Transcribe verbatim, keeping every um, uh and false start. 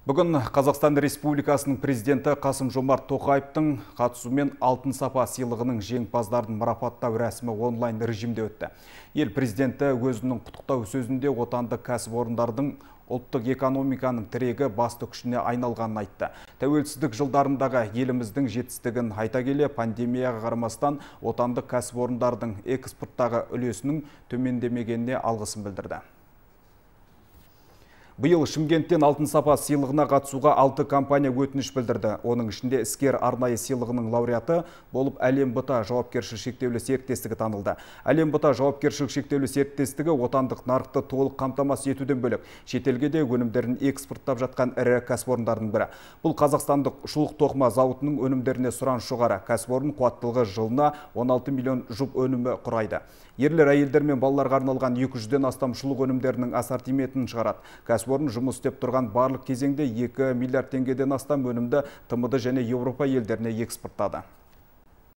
Бүгін Қазақстан Республикасының президенті Қасым-Жомарт Тоқаевтың қатысуымен алтын сапа сыйлығының жеңімпаздарын марапаттау рәсімі онлайн режимде өтті. Ел президенті өзінің құттықтау сөзінде отандық кәсіпорындардың ұлттық экономиканың тірегі басты күшіне айналғанын айтты. Тәуелсіздік жылдарындағы еліміздің жетістігін айта келе, пандемияға қарамастан отандық кәсіпорындардың экспорттағы үлесінің төмендемегеніне алғысын білдірді. Биыл Шымкенттен алтын сапа сыйлығына қатысуға алты компания өтініш білдірді. Оның ішінде іскер арнайы сыйлығының лауреаты болып Әлем БТА жауапкершілігі шектеулі серіктестігі танылды. Әлем БТА жауапкершілігі шектеулі серіктестігі отандық нарықты толық қамтамасыз етуден бөлек шетелге де өнімдерін экспорттап жатқан ірі кәсіпорындардың бірі. Бұл қазақстандық шұлық тоқыма зауытының өнімдеріне сұраныс жоғары. Кәсіпорын қуаттылығы жылына он алты миллион жұп өнімі құрайды. Ерлер, әйелдер мен балаларға арналған екі жүзден астам шұлық өнімдерінің ассортиментін шығарады. Кәсіпорын жұмыс істеп тұрған барлық кезеңде екі миллиард теңгеден астам өнімді Тмд және Еуропа елдеріне экспорттады.